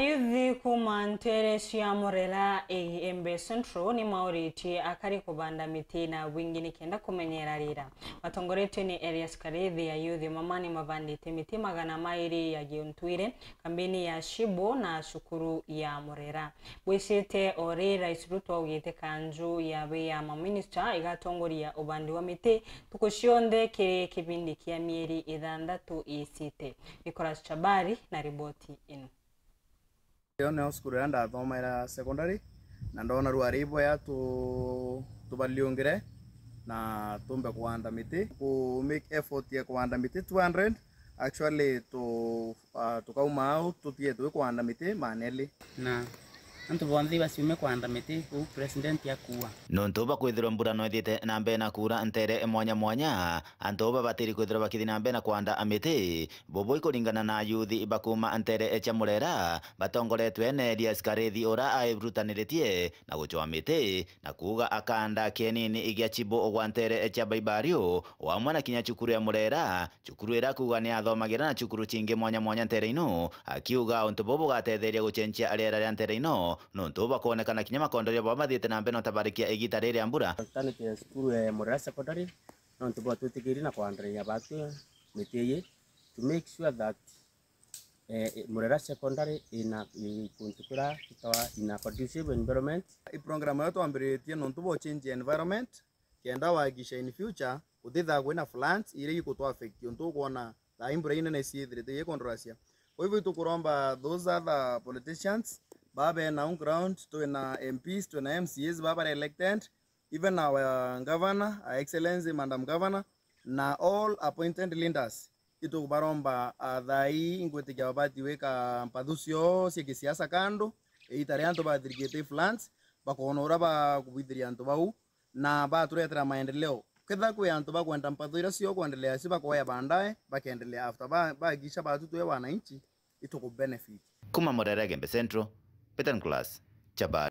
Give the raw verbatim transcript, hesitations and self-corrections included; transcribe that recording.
Ayuthi kuuma nteere cia Murera, Igembe Central, ni mauritie akari kubanda miti na bwingi nikenda kumenyera riera. Batongoretue ni Elias Karithi, ayuthi mama ni mabandite miti magana mairi ya giuntwire kambini ya Shibo na cukuru ya Murera. Bwicite o ri Rais Ruto augite kanju ya wia ya maminista igatongoria ubandi wa miti ntuku cionthe kiri kibindi kia mieri ithanthatu iicite. Nicholas Chabari na riboti ino. Iyo nio cukuru iria ndathomaira secondary, na ndona rwari iboya tu-, tubaliungire na tumbe kuanda miti. Ku make effort ya kuanda miti two hundred, actually tu-, ah, tukauma au tutige twi kuanda miti maneli. Na antu bonthe ibaciume kuanda miti uu president akuua. Nontu bwa kwithirwa mbura no ithiite na mbere na kuura nteere mwanya mwanya, antu babatiri kwithirwa bakithi na mbere na kuanda miti. Bubu ikuringana na ayuthi ba kuuma nteere cia Murera, batongoretue ni Elias Karithi, ura airutaniritie na gucwa miti na kuuga akanda kienini gia Chibo gwa nteere cia Baibario, o amwe na kinya cukuru ya Murera, cukuru iria akuuga ni athomagira na cukuru cingi mwanya mwanya nteere ino, akiuga untu bubu bugatetheria gucenjia riera ria nteere ino, nontu bakwonekana kinya makondoria baba bathiite na mbere na utabarikia igita riri ria mbura. Twanite cukuru ya Murera Secondary, nontu bwa twitikirie na kwandereria batu miti iyi to make sure that, eh, Murera Secondary ina, i kuntu kuria tutawa in a conducive environment. I program iria twambiritie nontu bwa change environment, kenda wahakikisha in future gutithaa kwina floods iria ikutu affect untu ukwona thaa ii mbura inene ciithirite ikondoracia. Kwa hivyo itukuromba those other politicians baba bena on ground, twina M Ps, twina M C As baba bari elected, even our governor, Her Excellency Madam Governor, na all appointed leaders, itukubaromba, ah, thaa ii ingwitikia babati gwika mpathu cio cia kisiasa kando, iita ria antu bathirikite floods, bakona uria bakubwithiria antu bau, na baturetera maendeleo. Ketha kwi antu bakwenda mpathu iria cio kwendelea cio bakoya baadaye, bakendelea after ba-, bahakikisha batu twe wananchi, ituku benefit. Kuma Murera Igembe Central, Peter Nicholas, Chabari.